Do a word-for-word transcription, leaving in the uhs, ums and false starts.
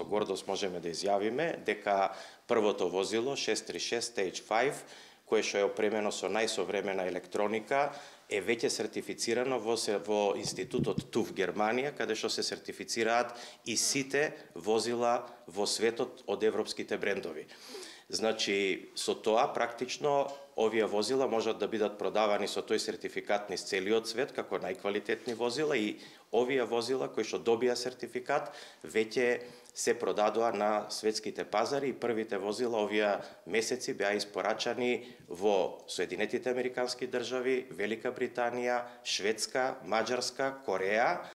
гордост можеме да изјавиме дека првото возило шест три шест Stage пет, кое што е опремено со најсовремена електроника, е веќе сертифицирано во, во институтот ТУФ Германија, каде што се сертифицираат и сите возила во светот од европските брендови. Значи, со тоа, практично, овие возила можат да бидат продавани со тој сертификат низ целиот свет, како најквалитетни возила, и овие возила кои што добија сертификат, веќе се продадоа на светските пазари и првите возила овие месеци беа испорачани во Соединетите Американски држави, Велика Британија, Шведска, Маđарска, Кореја,